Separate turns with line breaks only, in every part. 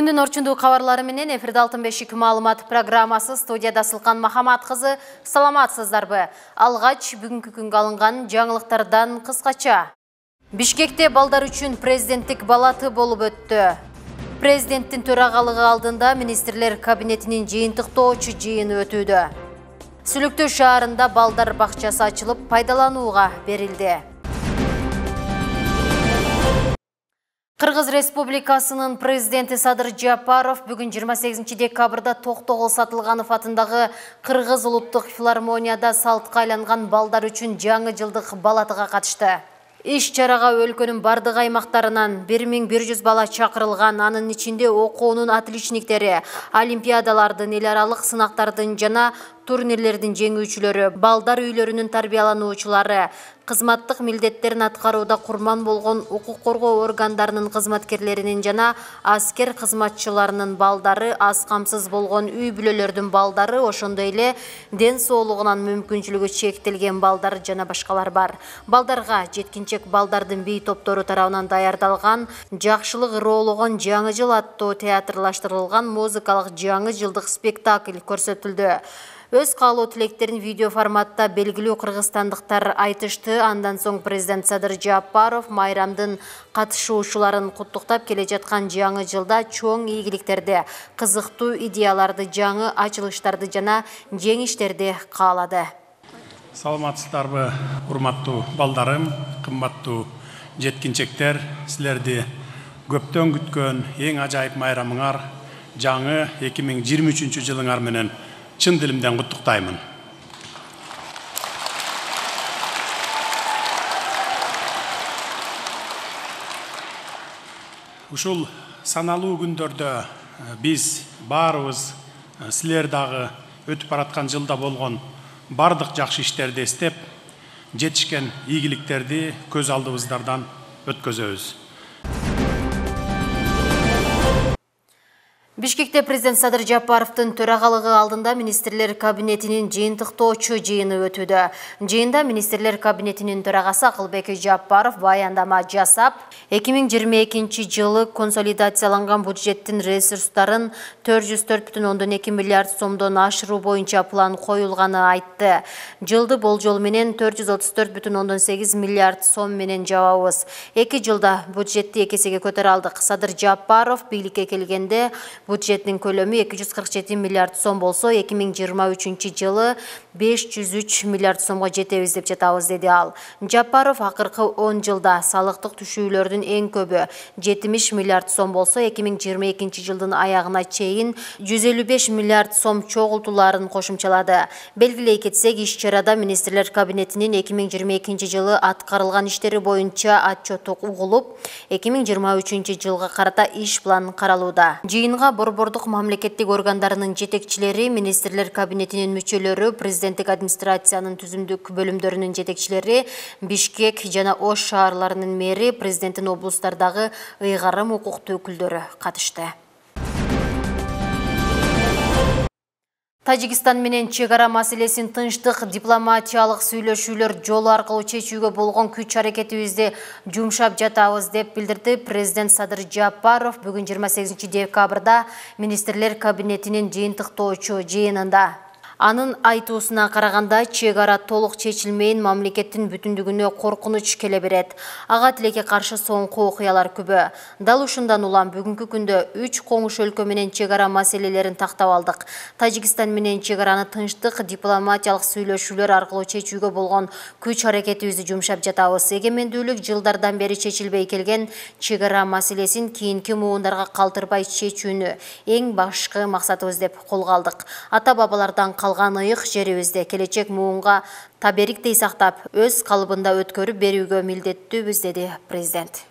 Күндүн орчундуу кабарлары менен эфирде Алтын бешик маалымат программасы, студияда Сылкан Махамат кызы. Саламатсыздарбы? Алгач бүгүнкү күнгө алынган жаңылыктардан кыскача. Бишкекте балдар үчүн президенттик балаты болуп өттү. Президенттин төрагалыгы алдында министрлер кабинетинин жыйынтыктоочу жыйыны өтүүдө. Сүлүктүү шаарында балдар бакчасы ачылып пайдаланууга берилди. Кыргыз Республикасынын президенти Садыр Жапаров бүгүн 28 декабрда Токтогул Сатылганов атындагы Кыргыз улуттук филармонияда салтка айланган балдар үчүн жаңы жылдык балатыга катышты. Иш-чарага өлкөнүн бардык аймактарынан 1100 бала чакырылган, анын ичинде окуунун отличниктери, олимпиадалардын, эл аралык сынактардын жана турнирлердин жеңүүчүлөрү, балдар үйлөрүнүн тарбиялануучулары, кызматтык милдеттерин аткарууда курман болгон укук коргоо органдарынын кызматкерлеринин жана аскер кызматчыларынын балдары, аз камсыз болгон үй бүлөлөрдүн балдары, ошондой эле ден соолугунан мүмкүнчүлүгү чектелген балдар жана башкалар бар. Балдарга жеткинчек балдардын бий топтору тарабынан даярдалган «Жакшылык ыроологон жаңы жыл» аттуу театрлаштырылган музыкалык жаңы жылдык спектакль көрсөтүлдү. Өз каалоо тилектерин видео форматта белгилүү кыргызстандыктар айтышты. Андан соң президент Садыр Жапаров майрамдын катышуучуларын куттуктап, келе жаткан жаңы жылда чоң ийгиликтерди, кызыктуу идеяларды, жаңы ачылыштарды жана жеңиштерди каалады.
Саламатсыздарбы, урматтуу балдарым, кымбаттуу жеткинчектер, силерди көптөн күткөн эң ажайып майрамыңар, жаңы 2023 жылыңар менен чын дилимден куттуктаймын. Ушул саналуу күндөрдө биз баарыбыз силер дагы өтүп бараткан жылда болгон бардык жакшы иштерди эстеп, жетишкен ийгиликтерди көз алдыбыздардан өткөзөбүз.
Бишкекте президент Садыр Жапаровдун төрагалыгы алдында министрлер кабинетинин жыйынтыктоочу жыйыны өтүүдө. Жыйында министрлер кабинетинин төрагасы Акылбек Жапаров баяндама жасап, 2022 жылы консолидацияланган бюджеттин ресурстарын 404,2 миллиард сомдон ашыруу боюнча план коюлганы айтты. Жылды болжол менен 434,8 миллиард сом менен жабабыз. 2 жылда бюджетти 2 эсеге көтөрө алдык. Садыр Жапаров бийликке келгенде бюджеттин көлөмү 247 миллиард сом болсо, 2023 жылы 503 миллиард сомго жетебиз деп жатабыз, деди ал. Жапаров акыркы 10 жылда салыктык түшүүлөрдүн эң көбү 70 миллиард сом болсо, 2022 жылдын аягына чейин 155 миллиард сом чогултууларын кошумчалады. Белгилей кетсек, иш-чарада министрлер кабинетинин 2022 жылы аткарылган иштери боюнча отчёту угулуп, 2023 жылга карата иш план каралууда. Жыйынга борбордук мамлекеттик органдарынын жетекчилери, министрлер кабинетинин мүчөлөрү, президенттик администрациянын түзүмдүк бөлүмдөрүнүн жетекчилери, Бишкек жана Ош шаарларынын мэри, президенттин облустардагы ыйгарым укуктуу өкүлдөрү катышты. Тажикстан менен чек ара маселесин тынчтык дипломатиялык сүйлөшүүлөр жолу аркылуу чечүүгө болгон күч аракетибизди жумшап жатабыз деп билдирди президент Садыр Жапаров бүгүн 28 декабрда министрлер кабинетинин жыйынтыктоочу жыйынында. Анын айтуусуна караганда, чек ара толук чечилмейин мамлекеттин бүтүндүгүнө коркунуч келе берет. Ага тилекке каршы соңку окуялар күбө. Дал ушундан улам бүгүнкү күндө 3 коңуш өлкө менен чек ара маселелерин тактап алдык. Тажикстан менен чек араны тынчтык дипломатиялык сүйлөшүүлөр аркылуу чечүүгө болгон күч аракетибизди жумшап жатабыз. Эгемендүүлүк жылдардан бери чечилбей келген чек ара маселесин кийинки муундарга калтырбай чечүүнү эң башкы максатыбыз деп колго алдык. Ата бабалардан калган ыйык жерибизди келечек муунга табериктей сактап, өз калыбында өткөрүп берүүгө милдеттүүбүз, деди президент.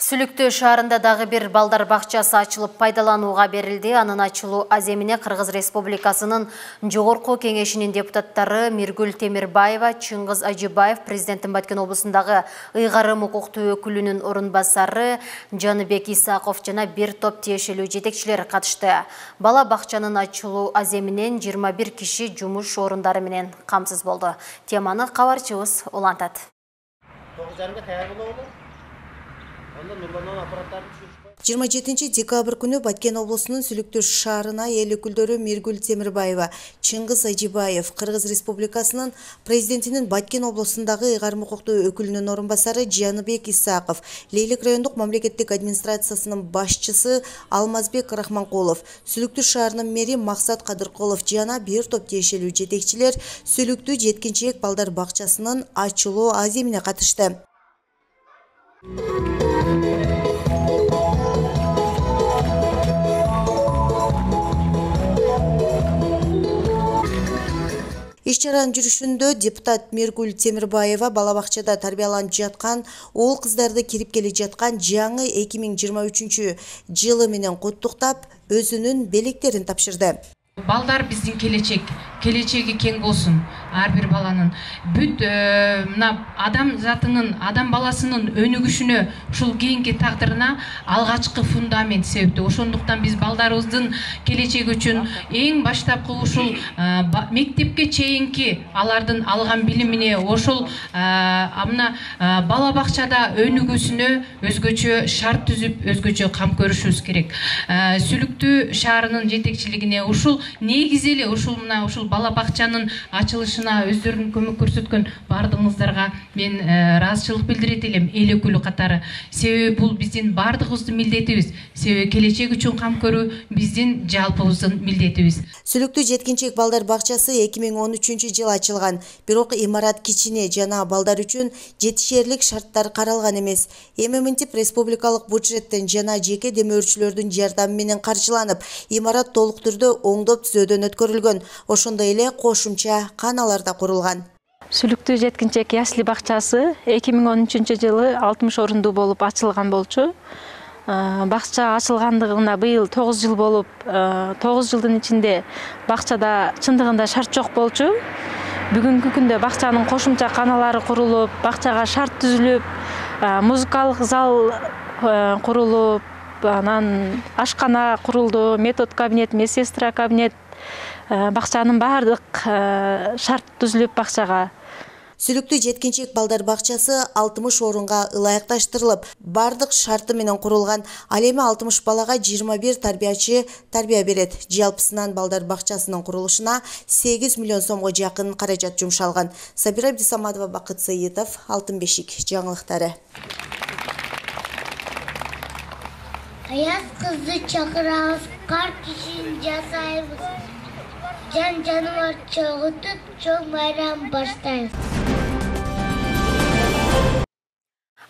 Сүлүктүү шаарында дагы бир балдар бакчасы ачылып пайдаланууга берилди. Анын ачылуу аземине Кыргыз Республикасынын Жогорку кеңешинин депутаттары Миргүл Темирбаева, Чыңгыз Ажыбаев, президенттин Баткен облусундагы ыйгарым укуктуу өкүлүнүн орун басары Жаныбек Исаков жана бир топ тиешелүү жетекчилер катышты. Бала бакчанын ачылуу аземинен 21 киши жумуш орундары менен камсыз болду. Теманы кабарчыбыз улантат.
27 декабрь күнү Баткен облусунун Сүлүктүү шаарына эл өкүлдөрү Миргүл Темирбаева, Чыңгыз Ажибаев, Кыргыз Республикасынын президентинин Баткен облусундагы ыйгарым укуктуу өкүлүнүн орун басары Жаныбек Исаков, Лейлек райондук мамлекеттик администрациясынын башчысы Алмазбек Рахманкулов, Сүлүктүү шаарынын мэри Максат Кадыркулов жана бир топ тиешелүү жетекчилер Сүлүктүү жеткинчек балдар бакчасынын ачылуу аземине катышты. Иш-чаранын жүрүшүндө депутат Миргүл Темирбаева бала бакчада тарбияланып жаткан уул кыздарды кирип келе жаткан жаңы 2023 жылы менен куттуктап, өзүнүн белектерин тапшырды.
Балдар биздин келечеги кең болсун. Ар бир баланын бүт адам затынын, адам баласынын өнүгүшүнө, ушул кийинки тагдырына алгачкы фундамент себептүү. Ошондуктан биз балдарыбыздын келечеги үчүн эң баштапкы ушул мектепке чейинки алардын алган билимине, ошол бала бакчада өнүгүүсүнө өзгөчө шарт түзүп, өзгөчө кам көрүшүбүз керек. Сүлүктүү шаарынын жетекчилигине ушул негизи эле ушул бала бакчанын ачылышына өздөрүнүн көмөк көрсөткөн бардыгыңыздарга мен ыраазычылык билдирет элем, эл өкүлү катары. Себеби бул биздин бардыгыбыздын милдетибиз. Себеби келечек үчүн кам көрүү биздин жалпыбыздын милдетибиз.
Сүлүктүү жеткинчек балдар бакчасы 2013 жылы ачылган. Бирок имарат кичине жана балдар үчүн жетишерлик шарттар каралган эмес. Эми мынтип республикалык бюджеттен жана жеке демөөрчүлөрдүн жардамы менен каржыланып, имарат толук түрдө оңдоп түзөөдөн өткөрүлгөн. Ошондой эле кошумча каналар да курулган.
Сүлүктүү жеткинчек ясли бакчасы 2013 жылы 60 орундуу болуп ачылган болчу. Бакча ачылгандыгына быйыл 9 жыл болуп, 9 жылдын ичинде бакчада чындыгында шарт жок болчу. Бүгүнкү күндө бакчанын кошумча каналары курулуп, бакчага шарт түзүлүп, музыкалык зал курулуп, анан ашкана курулду, метод кабинет, медсестра кабинет, бакчанын баардык шарт түзүлүп бакчага.
Сүлүктүү жеткинчек балдар бакчасы 60 орунга ылайыкташтырылып, бардык шарты менен курулган. Ал эми 60 балага 21 тарбиячы тарбия берет. Жалпысынан балдар бакчасынын курулушуна 8 миллион сомго жакын каражат жумшалган. Сабира Абдисаматова, Бакыт Сыйытов, Алтын бешик жаңылыктары.
Аяз кызды чакырабыз, кар кишин жасайбыз. Жан жаныбар чогутуп, чоң майрам баштайбыз.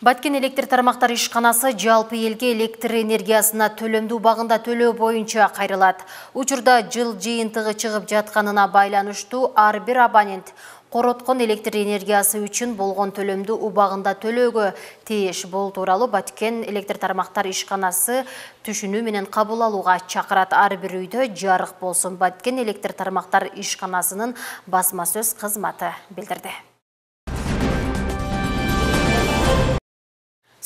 Баткен электр тармактар ишканасы жалпы элге электр энергиясына төлөмдүү убагында төлөө боюнча кайрылат. Учурда жыл жыйынтыгы чыгып жатканына байланыштуу ар бир абонент короткон электр энергиясы үчүн болгон төлөмдү убагында төлөөгө тийиш. Бул тууралуу Баткен электр тармактар ишканасы түшүнүү менен кабыл алууга чакырат. Ар бир үйдө жарык болсун. Баткен электр тармактар ишканасынын басма сөз кызматы билдирди.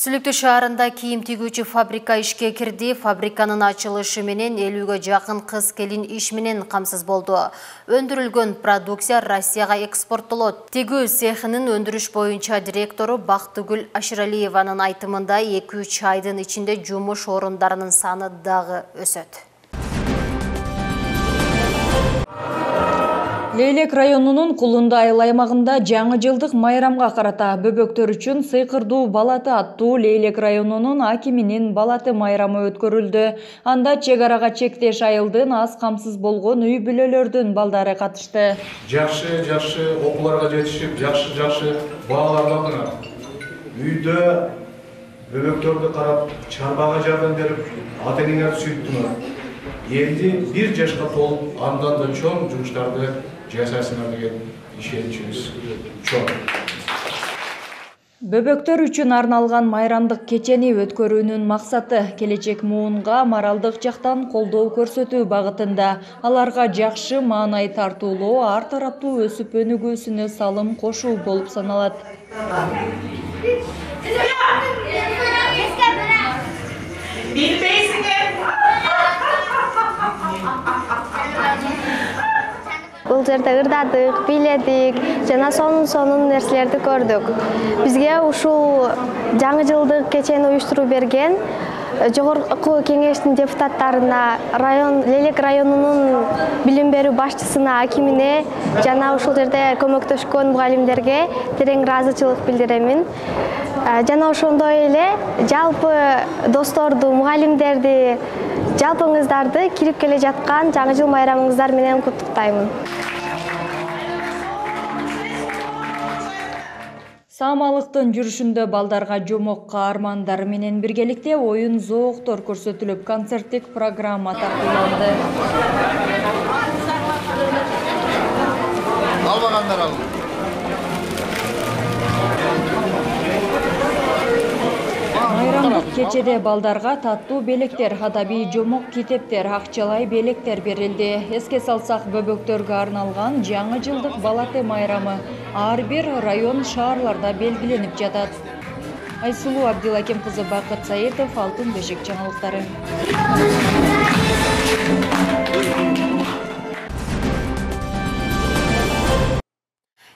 Сүлүктүү шаарында кийим тигүүчү фабрика ишке кирди. Фабриканын ачылышы менен 50ге жакын кыз-келин иш менен камсыз болду. Өндүрүлгөн продукция Россияга экспорттолот. Тигүү цехинин өндүрүш боюнча директору Бактыгүл Аширалиеванын айтымында 2-3 айдын ичинде жумуш орундарынын саны дагы өсөт.
Лейлек районунун Кулунда айыл аймагында жаңы жылдык майрамга карата бөбөктөр үчүн сыйкырдуу балаты аттуу Лейлек районунун акиминин балаты майрамы өткөрүлдү. Анда чек арага чектеш айылдын аз камсыз болгон үй бүлөлөрдүн балдары катышты.
Жакшы окууларга жетишип, жакшы бааларды алдыңар. Үйдө бөбөктөрдү карап, чарбага жардам берип, ата-энеңерди сүйүттүңөр. Энди 1 жашка толуп, андан да чоң жумуштарды жасайсыңар деген ишеничибиз чоң.
Бөбөктөр үчүн арналган майрамдык кечени өткөрүүнүн максаты келечек муунга моралдык жактан колдоо көрсөтүү багытында, аларга жакшы маанай тартуулоо, ар тараптуу өсүп өнүгүүсүнө салым кошуу болуп саналат.
Бул ушул жерде ырдадык, бийледик, жана сонун нерселерди көрдүк. Бизге ушул жаңы жылдык кечени уюштуруп берген Жогорку кеңештин депутаттарына, Лелек районунун билим берүү башчысына, акимине жана ушул жерде көмөктөшкөн мугалимдерге терең ыраазычылык билдиремин. Жана ошондой эле жалпы досторду, мугалимдерди, жалпыңыздарды кирип келе жаткан жаңы жыл майрамыңыздар менен куттуктаймын.
Саамалыктын жүрүшүндө балдарга жомок каармандар менен биргеликте оюн зооктор көрсөтүлүп, концерттик программа тартууланды.
Албагандар ал.
Майрамдык кечеде балдарга таттуу белектер, адабий жомок китептер, акчалай белектер берилди. Эске салсак, бөбөктөргө арналган жаңы жылдык балаты майрамы ар бир район, шаарларда белгиленип жатат. Айсулуу Абдилаким кызы, Бакыт Саитов, Алтын бешик жаңылыктары.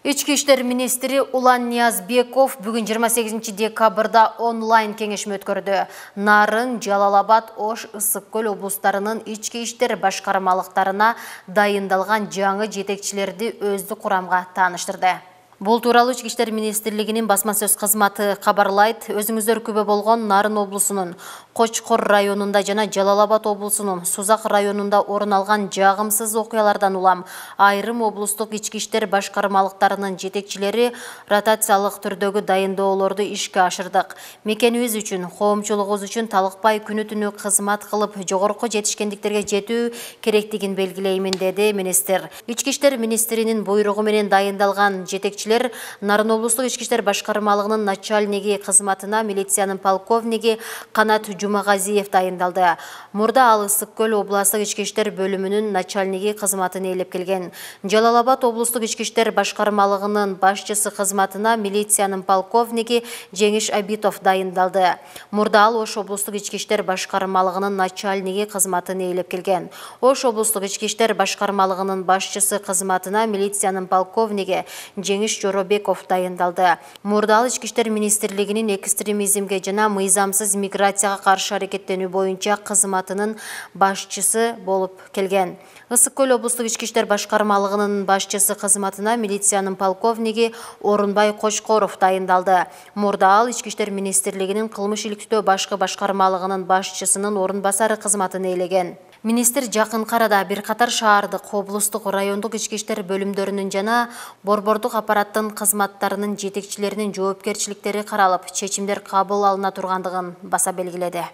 Ички иштер министри Улан Ниязбеков бүгүн 28 декабрда онлайн кеңешме өткөрдү. Нарын, Жалал-Абад, Ош, Ысык-Көл облустарынын ички иштер башкармалыктарына дайындалган жаңы жетекчилерди өздүк курамга тааныштырды. Бул тууралуу Ички иштер министрлигинин басма сөз кызматы кабарлайт. Өзүңүздөр күбө болгон Нарын облусунун Кочкор районунда жана Жалал-Абад облусунун Сузак районунда орун алган жагымсыз окуялардан улам айрым облустук ички иштер башкармалыктарынын жетекчилери ротациялык түрдөгү дайындоолорду ишке ашырдык. Мекенибиз үчүн, коомчулугубуз үчүн талыкпай күнү-түнү кызмат кылып, жогорку жетишкендиктерге жетүү керектигин белгилеймин, деди министр. Ички иштер министринин буйругу менен дайындалган жетекчилер Нарын облустук ички иштер башкармалыгынын начальниги кызматына милициянын полковниги Канат Жумагазиев дайындалды. Мурда ал Ысык-Көл областык ички иштер бөлүмүнүн начальниги кызматын ээлеп келген. Жалал-Абад облустук ички иштер башкармалыгынын башчысы кызматына милициянын полковниги Жеңиш Абитов дайындалды. Мурда ал Ош облустук ички иштер башкармалыгынын начальниги кызматын ээлеп келген. Ош облустук ички иштер башкармалыгынын башчысы кызматына милициянын полковниги Жеңиш Жоробеков дайындалды. Мурда ал ички иштер министрлигинин экстремизмге жана мыйзамсыз миграцияга каршы аракеттенүү боюнча кызматынын башчысы болуп келген. Ысык-Көл облустук ички иштер башкармалыгынын башчысы кызматына милициянын полковниги Орунбай Кочкоров дайындалды. Мурда ал ички иштер министрлигинин кылмыш иликтөө башкы башкармалыгынын башчысынын орун басары кызматын ээлеген. Министр жакынкы арада бир катар шаардык, облустук, райондук ички иштер бөлүмдөрүнүн жана борбордук аппараттын кызматтарынын жетекчилеринин жоопкерчиликтери каралып, чечимдер кабыл алына тургандыгын баса белгиледи.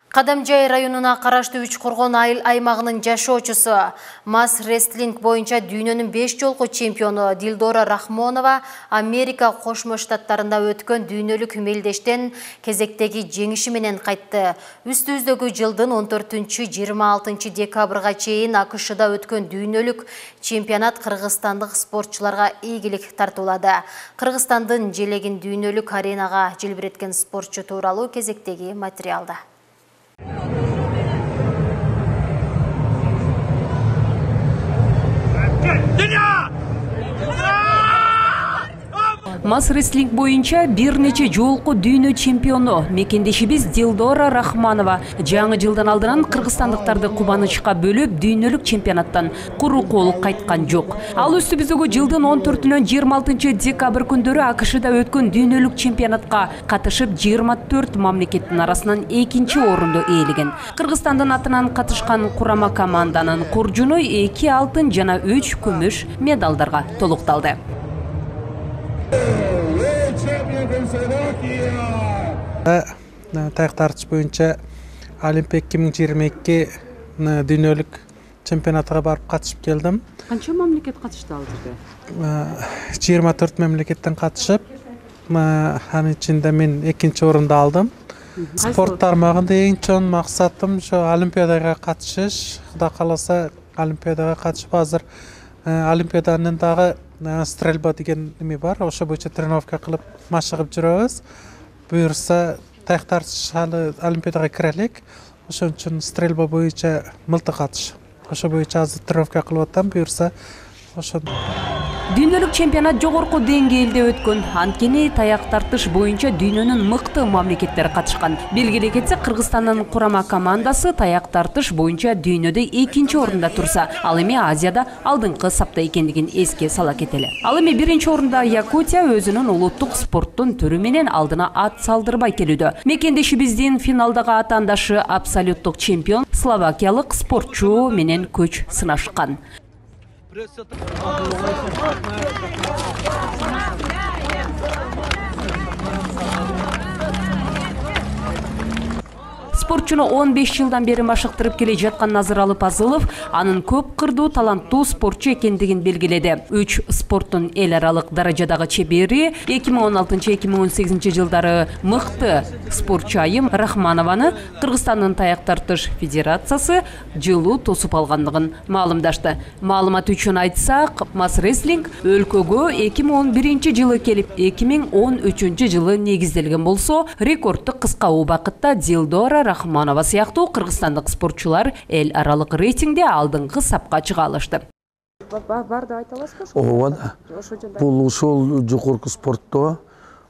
Кадамжай районуна караштуу Үч Коргон айыл аймагынын жашоочусу, мас рестлинг боюнча дүйнөнүн 5 жолку чемпиону Дилдора Рахмонова Америка Кошмо Штаттарында өткөн дүйнөлүк мелдештен кезектеги жеңиши менен кайтты. Үстүбүздөгү жылдын 14-26 декабрга чейин АКШда өткөн дүйнөлүк чемпионат кыргызстандык спортчуларга ийгилик тартуулады. Кыргызстандын желегин дүйнөлүк аренага желбиреткен спортчу тууралуу кезектеги материалда.
Мас рестлинг боюнча бир нече жолку дүйнө чемпиону мекендешибиз Дилдора Рахманова жаңы жылдан алдынан кыргызстандыктарды кубанычка бөлөп дүйнөлүк чемпионаттан куру кол кайткан жок. Ал үстүбүздөгү жылдын 14-26 декабрь күндөрү АКШда өткөн дүйнөлүк чемпионатка катышып 24 мамлекеттин арасынан 2-чи орунду ээлеген. Кыргызстандын атынан катышкан курама команданын куржуну 2 алтын жана 3 күмүш медалдарга толукталды.
Таяк тартыш боюнча Олимпик 2022 дүйнөлүк чемпионатка барып катышып келдим.
Канча мамлекет катышты ал жерде?
24 мамлекеттен катышып, анын ичинде мен 2-чи орунду алдым. Спорт тармагында эң чоң максатым ошо Олимпиадага катышыш. Кудай кааласа Олимпиадага катышып, азыр Олимпиаданын дагы стрельба деген эме бар. Ошо боюнча тренировка кылып машыгып жүрөбүз. Буюрса таяк тартыш Олимпиадага кире элек. Ошон үчүн стрельба боюнча мылтык атыш. Ошо боюнча азыр тренировка кылып атам, буюрса ошо.
Дүйнөлүк чемпионат жогорку деңгээлде өткөн. Анткени таяк тартыш боюнча дүйнөнүн мыкты мамлекеттери катышкан. Белгилей кетсек, Кыргызстандын курама командасы таяк тартыш боюнча дүйнөдө 2-нчи орунда турса, ал эми Азияда алдыңкы сапта экендигин эске сала кетели. Ал эми 1-нчи орунда Якутия өзүнүн улуттук спорттун түрү менен алдына ат салдырбай келүүдө. Мекендешибиздин финалдагы атаандашы абсолюттук чемпион словакиялык спортчу менен көч сынашкан. Спортчуну 15 жылдан бери машыктырып келе жаткан Назыр Алыпазылов анын көп кырдуу таланттуу спортчу экендигин белгиледи. 3 спорттун эл аралык даражадагы чебери 2016-2018 жылдары мыкты спортчу Айым Рахманованы Кыргызстандын таяк тартыш федерациясы жылуу тосуп алгандыгын маалымдашты. Маалымат үчүн айтсак, Мас Рестлинг өлкөгө 2011 жылы келип, 2013 жылы негизделген болсо, рекордтук кыска убакытта Дилдора Рахманова сыяктуу кыргызстандык спортчулар эл аралык рейтингде алдыңкы сапка чыга алышты.
Бар деп айта аласызбы? Ооба да. Бул ушул жогорку спортто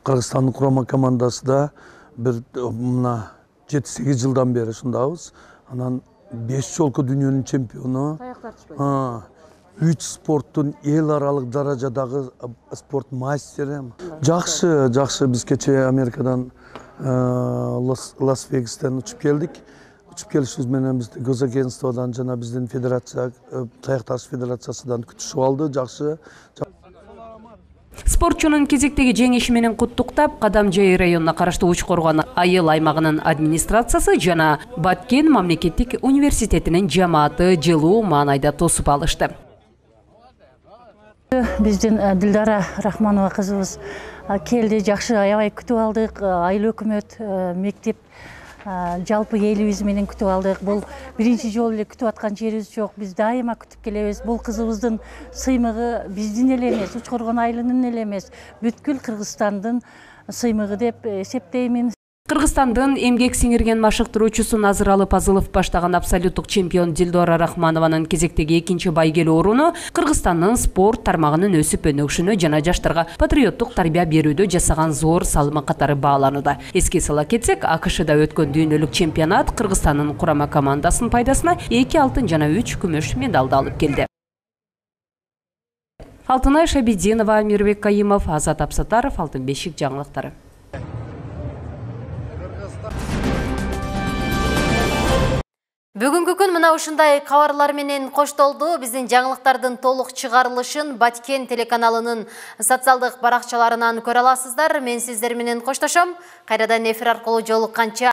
Кыргызстандын курама командасында бир мына 7-8 жылдан бери ушундабыз. Анан 5 жолку дүйнөнүн чемпиону. 3 спорттун эл аралык даражадагы спорт мастери. Жакшы биз кечээ Америкадан Лас-Вегастан учуп келдик. Учуп келишибиз менен бизди госагентстводон жана биздин федерация, таяк тартыш федерациясынан күтүшүп алды. Жакшы.
Спортчунун кезектеги жеңиши менен куттуктап, Кадамжай районуна караштуу Учкоргон айыл аймагынын администрациясы жана Баткен мамлекеттик университетинин жамааты жылуу маанайда тосуп алышты.
Биздин Дилдара Рахманова кызыбыз келди, жакшы аябай күтүп алдык. Айыл өкмөт, мектеп, жалпы элибиз менен күтүп алдык. Бул биринчи жолу эле күтүп аткан жерибиз жок. Биз дайыма күтүп келебиз. Бул кызыбыздын сыймыгы биздин эле эмес, Учкоргон айылынын эле эмес, бүткүл Кыргызстандын сыймыгы деп эсептеймин.
Кыргызстандын эмгек сиңирген машыктыруучусу Назыр Алыпазылов баштаган абсолюттук чемпион Дилдора Рахманованын кезектеги 2-нчи байгелүү орууну Кыргызстандын спорт тармагынын өсүп өнүгүшүнө жана жаштарга патриоттук тарбия берүүдө жасаган зор салымы катары бааланууда. Эске сала кетсек, АКШда өткөн дүйнөлүк чемпионат Кыргызстандын курама командасынын пайдасына 2 алтын жана 3 күмүш медалды алып келди. Алтынай Шабидинова, Мирбек Кайымов, Азат Апсатаров, Алтын бешик жаңылыктары.
Бүгүнкү күн мына ушундай кабарлар менен коштолду. Биздин жаңылыктардын толук чыгарылышын Баткен телеканалынын социалдык баракчаларынан көрө аласыздар. Мен сиздер менен коштошом. Кайрадан эфир аркылуу жолукканча